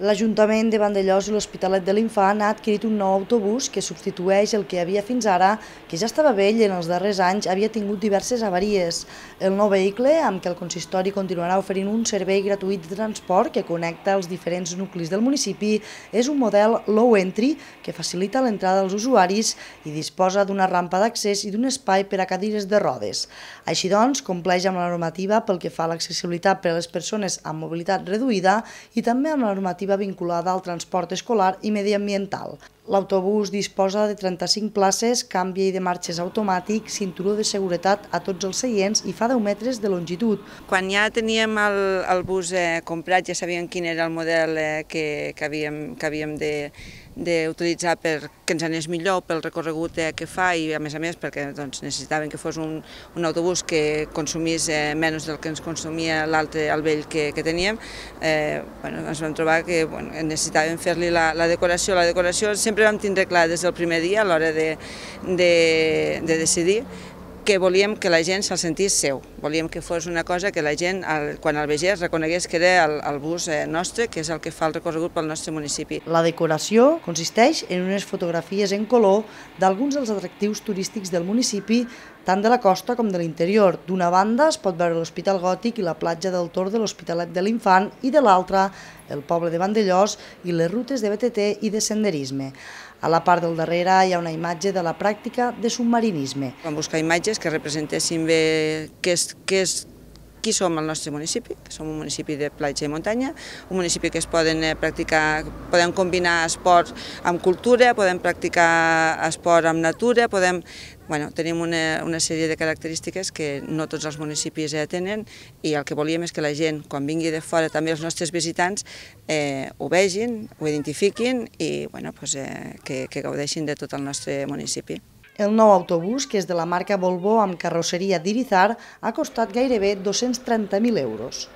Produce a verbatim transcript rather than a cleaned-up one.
L'Ajuntament de Vandellòs i l'Hospitalet de l'Infant ha adquirit un nou autobús que substitueix el que havia fins ara, que ja estava vell i en els darrers anys havia tingut diverses avaries. El nou vehicle, amb què el consistori continuarà oferint un servei gratuït de transport que connecta els diferents nuclis del municipi, és un model low entry que facilita l'entrada dels usuaris i disposa d'una rampa d'accés i d'un espai per a cadires de rodes. Així doncs, compleix amb la normativa pel que fa a l'accessibilitat per a les persones amb mobilitat reduïda i també amb la normativa vinculada al transport escolar i mediambiental. L'autobús disposa de trenta-cinc places, canvi de marxes automàtic, cinturó de seguretat a tots els seients i fa deu metres de longitud. Quan ja teníem el, el bus eh, comprat, ja sabíem quin era el model eh, que, que havíem, que havíem de d'utilitzar perquè ens anés millor pel recorregut eh, que fa i a més a més perquè doncs, necessitaven que fos un, un autobús que consumís eh, menys del que ens consumia l'altre, el vell que, que teníem. Eh, bueno, ens vam trobar que bueno, necessitàvem fer-li la, la decoració. La decoració sempre vam tindre clar des del primer dia a l'hora de, de, de decidir que volíem que la gent se'l sentís seu, volíem que fos una cosa que la gent, quan el vegés, reconegués que era el, el bus nostre, que és el que fa el recorregut pel nostre municipi. La decoració consisteix en unes fotografies en color d'alguns dels atractius turístics del municipi, tant de la costa com de l'interior. D'una banda es pot veure l'Hospital Gòtic i la platja del Tor de l'Hospitalet de l'Infant i de l'altra el poble de Vandellòs i les rutes de B T T i de senderisme. A la part del darrere hi ha una imatge de la pràctica de submarinisme. Vam buscar imatges que representessin bé què és, què és, qui som al nostre municipi, que som un municipi de platja i muntanya, un municipi que es poden practicar, podem combinar esport amb cultura, podem practicar esport amb natura, podem, bueno, tenim una, una sèrie de característiques que no tots els municipis eh, tenen i el que volíem és que la gent, quan vingui de fora, també els nostres visitants, eh, ho vegin, ho identifiquin i bueno, pues, eh, que, que gaudeixin de tot el nostre municipi. El nou autobús, que és de la marca Volvo amb carrosseria d'Irizar, ha costat gairebé dos-cents trenta mil euros.